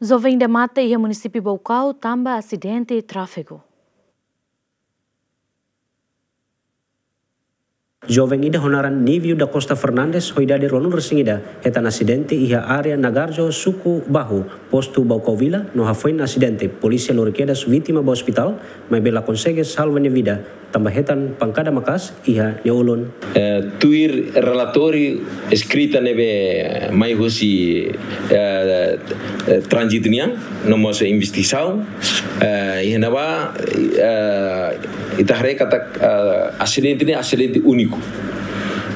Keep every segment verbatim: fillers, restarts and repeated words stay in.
Joven ida mate iha munisípiu Baucau tanba asidente tráfegu. Joven ida ho naran Nívio da Costa Fernandes, ho idade ruanulu-resin-ida, hetan asidente iha área Nagarjo, suku Bahu, postu Baucau Vila, no hafoin asidente, polísia lori kedas vítima ba ospitál, maibé la konsege salva nia vida, tanba hetan pankada maka'as iha nia ulun. Eh, tuir relatóriu eskrita ne'ebé mai husi, eh, eh, tránzitu nian, no mós investigasaun, eh, iha ne'ebá, eh, ita haree katak, eh, asidente ne'e asidente úniku.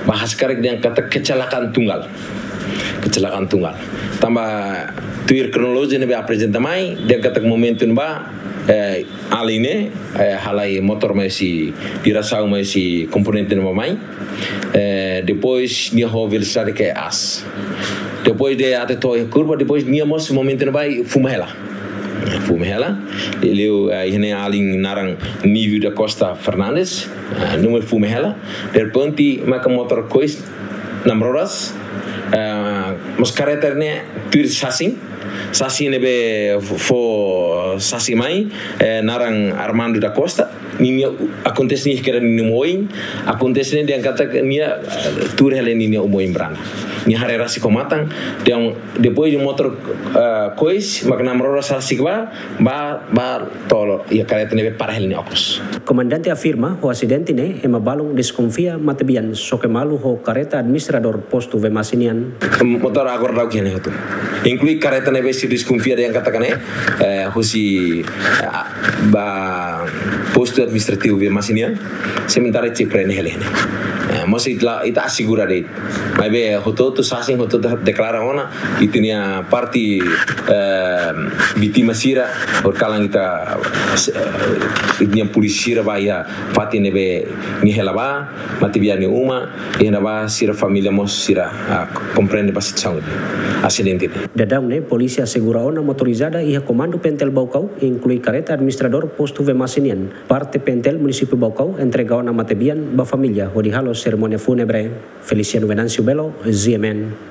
Ba ha'u hakarak dehan katak kecelakaan tunggal. Kecelakaan tunggal. Tanba tuir kronolojia ne'ebé aprezenta mai, dehan katak momentu ne'ebá, eh, alin ne'e, eh, halai motór mai husi diresaun mai husi komponente ne'ebá mai. Eh, depois nia ho velosidade ke aas. Depois de até to'o iha kurva, depois nia mós momentu ne'ebá fuma hela. Fuma hela. Liuliu, eh, iha ne'e alin naran Nívio da Costa Fernandes. Eh, nia mós fuma hela. Derrepente, maka motór kois namroras. Eh, mós karreta ne'e tuir sasin. Sasin ne'ebé fó sasin mai, eh, naran Armando da Costa. Ninia akontese ne'e kera ninia uma-oin, akontese ne'e dehan katak nia, eh, tuur hela ninia uma-oin branda. Nia haree rasik ho matan, dehan depois de motór, eh, kois, mak namroras rasik bá, bá, bá to'o iha karreta ne'ebé para hela nia okos. Komandante afirma, ho asidente ne'e, ema balun deskonfia matebian, xoke malu ho karreta administradór postu Vemasse nian. Motór agora daudaun ne'e hotu. Inklui karreta ne'ebé sira deskonfia dehan katak ne'e, eh, husi, eh, ba postu administrativu Vemasse nian, sementara ita prende hela ne'e. Eh, mós ita la, ita asegura de'it. Maibé hotu-hotu sasin, hotu-hotu deklara ona, ita-nia parte, eh, vítima sira, horikalan ita, eh, ita-nia polísia sira bá iha fatin ne'ebé nia hela bá, matebian nia uma, iha ne'ebá sira família mós sira, ah, komprende ba situasaun ne'e, asidente ne'e. Daudaun ne'e, polísia asegura ona motorizada iha Komandu Pentel Baucau, inklui karreta administradór postu Vemasse nian. Parte Pentel munisípiu Baucau entrega ona matebian ba família hodi halo serimónia fúnebre. Feliciano Venâncio Belo, G M N.